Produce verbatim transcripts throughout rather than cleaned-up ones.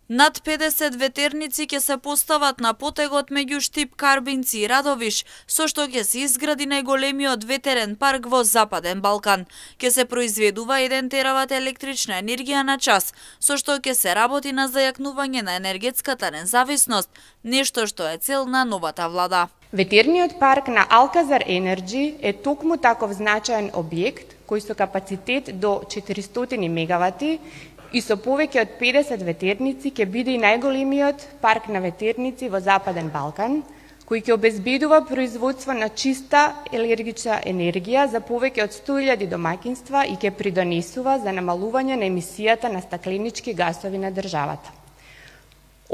Над педесет ветерници ќе се постават на потегот меѓу Штип, Карбинци и Радовиш, со што ќе се изгради најголемиот ветерен парк во Западен Балкан. Ќе се произведува еден терават електрична енергија на час, со што ќе се работи на зајакнување на енергетската независност, нешто што е цел на новата влада. Ветерниот парк на Алказар Енерджи е токму таков значаен објект кој со капацитет до четиристотини мегавати и со повеќе од педесет ветерници ќе биде и најголемиот парк на ветерници во Западен Балкан, кој ќе обезбедува производство на чиста електрична енергија за повеќе од сто илјади домаќинства и ќе придонесува за намалување на емисијата на стакленички гасови на државата.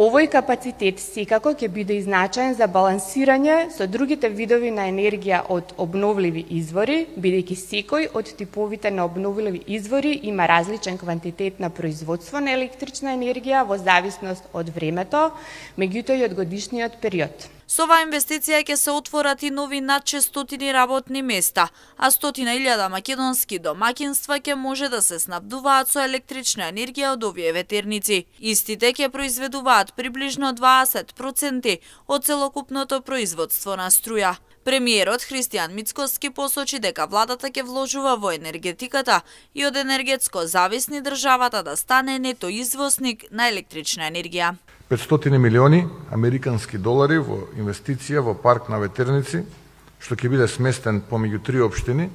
Овој капацитет секако ќе биде и значаен за балансирање со другите видови на енергија од обновливи извори, бидејќи секој од типовите на обновливи извори има различен квантитет на производство на електрична енергија во зависност од времето, меѓутоа и од годишниот период. Со оваа инвестиција ќе се отворат и нови над шестстотини работни места, а стотина илјада македонски домаќинства ќе може да се снабдуваат со електрична енергија од овие ветерници. Истите ќе произведуваат приближно дваесет проценти од целокупното производство на струја. Премиерот Христијан Мицкоски посочи дека владата ќе вложува во енергетиката и од енергетско зависни државата да стане нето извозник на електрична енергија. петстотини милиони американски долари во инвестиција во парк на ветерници, што ќе биде сместен помеѓу три општини,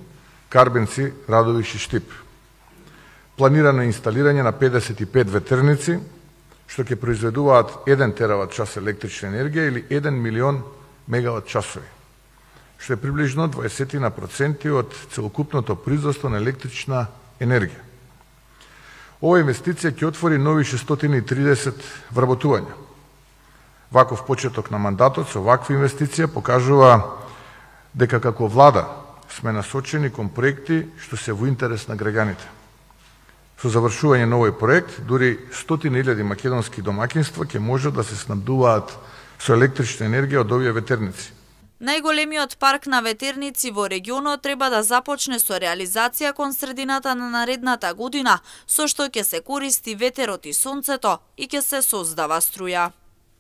Карбинци, Радовиш и Штип. Планирано е инсталирање на педесет и пет ветерници, што ќе произведуваат еден терават час електрична енергија или еден милион мегават часови, што е приближно дваесет проценти од целокупното производство на електрична енергија. Ова инвестиција ќе отвори нови шестстотини и тридесет вработувања. Ваков почеток на мандатот со ваква инвестиција покажува дека како влада сме насочени кон проекти што се во интерес на граѓаните. Со завршување на овој проект, дури стотини илјади македонски домаќинства ќе можат да се снабдуваат со електрична енергија од овие ветерници. Најголемиот парк на ветерници во регионот треба да започне со реализација кон средината на наредната година, со што ќе се користи ветерот и сонцето и ќе се создава струја.